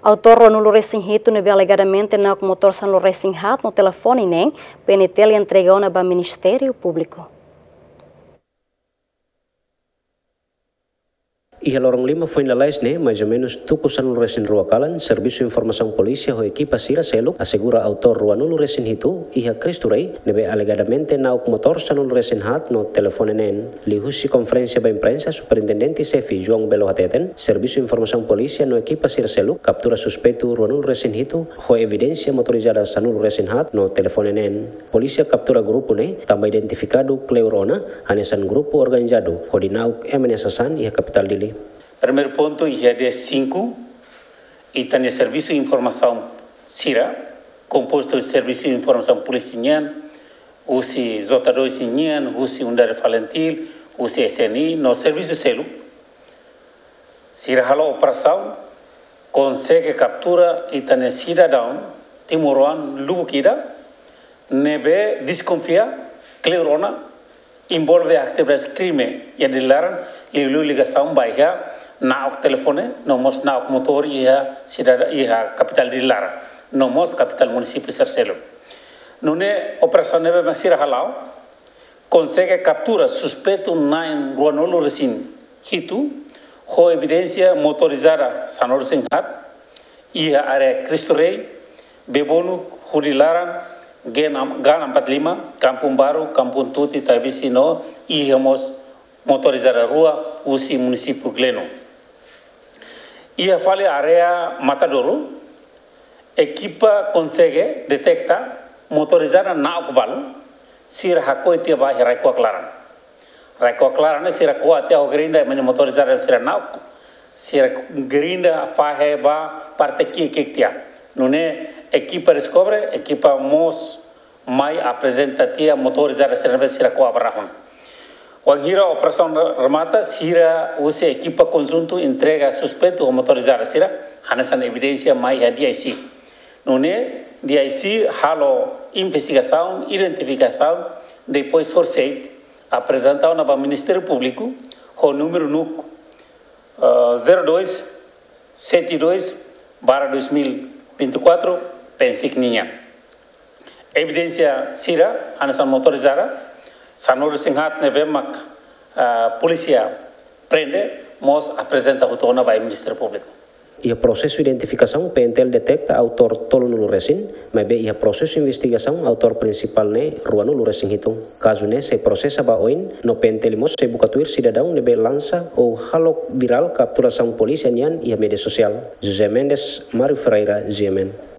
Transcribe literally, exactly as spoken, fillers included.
Autór ruanulu resin hitu ne'ebé alegadamente na'ok motór sanulu resin haat no telefone neen, P N T L entrega ona ba Ministériu Públiku. Iha loron lima foin lalais ne'e, mais ou menus tuku sanulu resin rua kalan, Servisu Informasaun Polísia ho ekipa sira seluk asegura autór ruanulu resin hitu iha Cristo Rei ne'ebé alegadamente na'ok motór sanulu resin haat no telefone neen. Liuhusi konferénsia ba imprensa, Superintendente Xefe João Belo hateten, Servisu Informasaun Polísia no ekipa sira seluk kaptura suspeitu ruanulu resin hitu ho evidénsia motorizada sanulu resin haat no telefone neen. Polísia kaptura grupu ne'e tanba identifikadu kleur ona hanesan grupu organizadu hodi na'ok ema nia sasán iha kapitál Dili. Primeiru pontu, iha dia sinku, ita-nia servisu informasaun sira, kompostu servisu informasaun polísia nian, husi J dois nian, husi Unidade Falintil, husi S N I, no servisu seluk, sira halo operasaun, konsege kaptura ita-nia sidadaun timoroan lubuk ida ne'ebé deskonfia kleur ona envolve atividade krime iha Dili laran, liuliu ligasaun ba iha na'ok telefone, no mós na'ok motór iha sidada, iha kapitál Dili laran, no mós kapitál munisípiu sira seluk. Nune'e operasaun ne'ebé mak sira hala'o, konsege kaptura suspeitu na'in ruanulu resin hitu, ho evidénsia motorizada sanulu resin haat, iha área Cristo Rei, Bebonuk, Hudi Laran, Gen am-, Gan empat lima, Kampung Baru, Kampung Tuti, Taibisi no iha mós motorizada rua husi munisípiu Gleno. Iha fali área Matadouro, ekipa konsege deteta motorizada na'ok balu, sira hakoi tiha ba iha rai-kuak laran. Rai-kuak laran ne'e sira ko'a tiha ho gerinda ema nia motorizada sira na'ok, sira gerinda fahe ba parte ki'ik-ki'ik tiha. Nune'e ekipa deskobre, ekipa mós mai aprezenta tiha motorizada sira ne'ebé sira ko'a ba rahun. Wainhira operasaun remata, sira husi ekipa konjuntu entrega suspeitu ho motorizada sira, hanesan evidénsia mai iha D I C. Nune'e D I C halo investigasaun, identifikasaun, depois horisehik aprezenta ona ba Ministériu Públiku ho númeru NUC, eh, zero dois sete dois barra dois mil e vinte e quatro, PNCIC nian. Evidénsia sira, hanesan motorizada sanulu resin haat ne'ebé mak, ah, polísia prende, mós aprezenta hotu ona ba Ministériu Públiku. Iha prosesu identifikasaun, P N T L deteta autór tolunulu resin, maibé iha prosesu investigasaun, autór prinsipál ne'e ruanulu resin hitu. Kazu ne'e sei prosesa ba oin, no P N T L mós sei buka tuir sidadaun ne'ebé lansa ou halo virál kapturasaun polísia nian iha média sosiál. José Mendes, Mário Ferreira, G M N.